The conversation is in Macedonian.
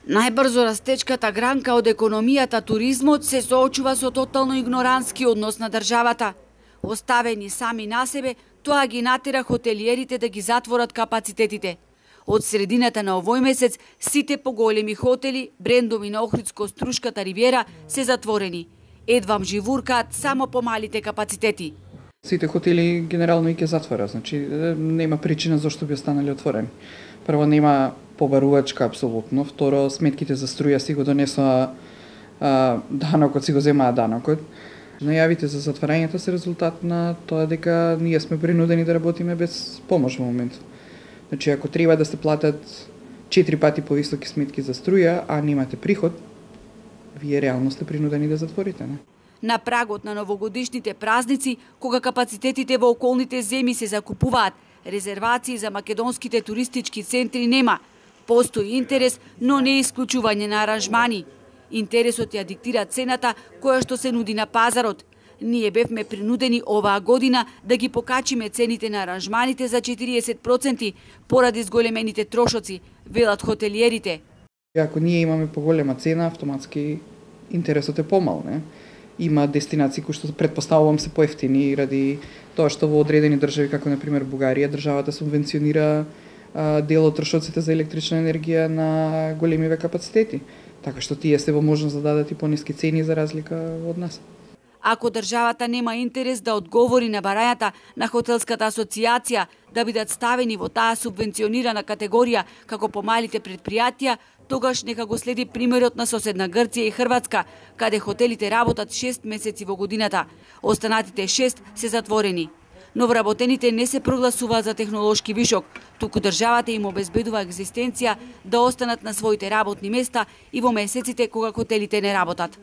Најбрзо растечката гранка од економијата туризмот се соочува со тотално игнорантски однос на државата. Оставени сами на себе, тоа ги натера хотелиерите да ги затворат капацитетите. Од средината на овој месец, сите поголеми хотели, брендови на Охридско-Струшката ривиера се затворени. Едвам живуркаат само помалите капацитети. Сите хотели генерално и ќе затвора, значи нема причина зашто би останали отворени. Прво, нема побарувачка апсолутно, второ, сметките за струја си го донесоа данокот, си го земаа данокот. Најавите за затварањето се резултат на тоа дека ние сме принудени да работиме без помош во моментот. Значи, ако треба да се платат 4 пати повисоки сметки за струја, а немате приход, вие реално сте принудени да затворите, не? На прагот на новогодишните празници, кога капацитетите во околните земји се закупуваат, резервации за македонските туристички центри нема. Постои интерес, но не исклучување на аранжмани. Интересот ја диктира цената која што се нуди на пазарот. Ние бевме принудени оваа година да ги покачиме цените на аранжманите за 40% поради зголемените трошоци, велат хотелиерите. Ако ние имаме поголема цена, автоматски интересот е помал, не? Има дестинации кои што претпоставувам се поевтини ради тоа што во одредени држави, како например Бугарија, државата субвенционира дел од трошоците за електрична енергија на големиве капацитети. Така што тие се во можност да дадат и пониски цени за разлика од нас. Ако државата нема интерес да одговори на барањата на Хотелската асоциација да бидат ставени во таа субвенционирана категорија како помалите предпријатија, тогаш нека го следи примерот на соседна Грција и Хрватска, каде хотелите работат 6 месеци во годината. Останатите 6 се затворени. Новоработените не се прогласуваат за технолошки вишок, туку државата им обезбедува екзистенција да останат на своите работни места и во месеците кога хотелите не работат.